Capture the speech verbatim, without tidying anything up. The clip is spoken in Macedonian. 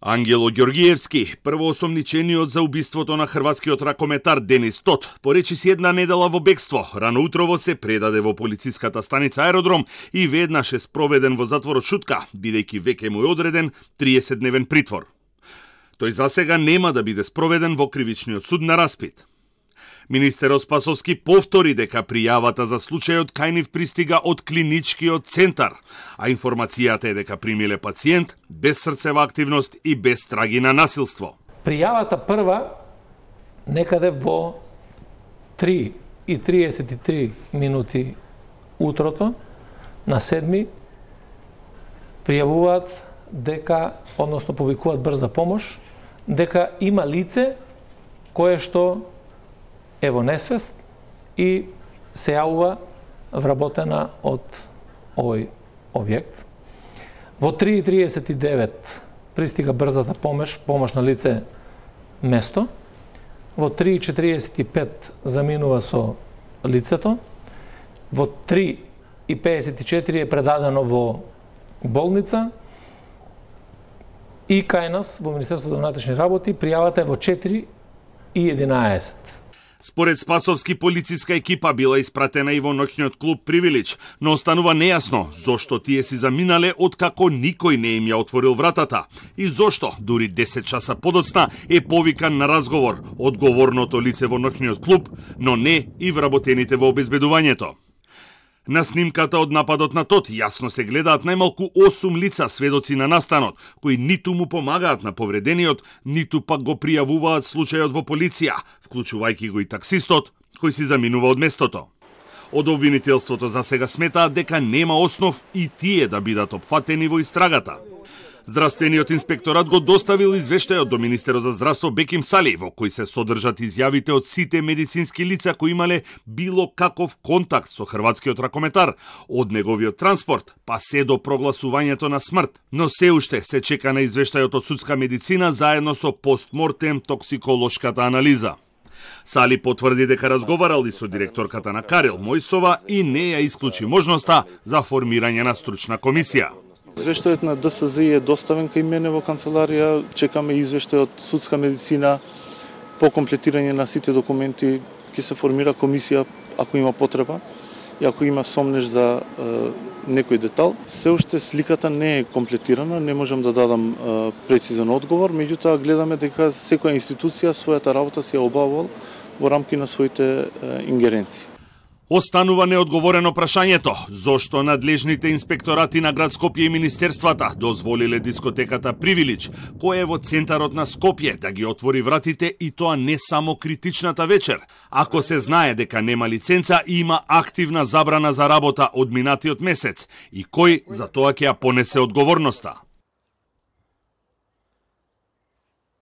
Ангело Ѓоргиевски, првоосомничениот за убиството на хрватскиот ракометар Денис Тот, поречиси една недела во бегство, рано утрово се предаде во полициската станица Аеродром и веднаш е спроведен во затворот Шутка, бидејќи веќе му е одреден триесетдневен притвор. Тој засега нема да биде спроведен во кривичниот суд на распит. Министерот Спасовски повтори дека пријавата за случајот кај нив пристига од клиничкиот центар, а информацијата е дека примиле пациент без срцева активност и без траги на насилство. Пријавата прва некаде во три и триесет и три минути утрото на седми пријавуваат дека, односно повикуваат брза помош, дека има лице кое што е во несвест и се јавува вработена од овој објект. Во три и триесет и девет пристига брзата помош, помош на лице место. Во три и четириесет и пет заминува со лицето. Во три и пеесет и четири е предадено во болница. И кај нас во Министерството за внатрешни работи пријавата е во четири и единаесет. Според Спасовски, полициска екипа била испратена и во ноќниот клуб Привилич, но останува нејасно зошто тие си заминале откако никој не им ја отворил вратата и зошто дури десет часа подоцна е повикан на разговор одговорното лице во ноќниот клуб, но не и вработените во обезбедувањето. На снимката од нападот на Тот јасно се гледаат најмалку осум лица сведоци на настанот, кои ниту му помагаат на повредениот, ниту пак го пријавуваат случајот во полиција, вклучувајќи го и таксистот, кој си заминува од местото. Од обвинителството за сега сметаат дека нема основ и тие да бидат опфатени во истрагата. Здравствениот инспекторат го доставил извештајот до Министерот за здравство Беким Сали, во кој се содржат изјавите од сите медицински лица кои имале било каков контакт со хрватскиот ракометар, од неговиот транспорт, па се до прогласувањето на смрт. Но се уште се чека на извештајот од судска медицина заедно со постмортем токсиколошката анализа. Сали потврди дека разговарал и со директорката на Карел Мојсова и не ја исклучи можноста за формирање на стручна комисија. Извештајот на ДСЗ е доставен кај мене во канцеларија, чекаме извештај од судска медицина по комплетирање на сите документи, ќе се формира комисија ако има потреба и ако има сомнеш за е, некој детал. Се уште сликата не е комплетирана, не можам да дадам е, прецизен одговор, меѓутоа гледаме дека секоја институција својата работа си ја обавувал во рамки на своите е, ингеренции. Останува неодговорено прашањето зошто надлежните инспекторати на град Скопје и министерствата дозволиле дискотеката Привилич, која е во центарот на Скопје, да ги отвори вратите и тоа не само критичната вечер, ако се знае дека нема лиценца и има активна забрана за работа од минатиот месец и кој за тоа ќе ја понесе одговорноста.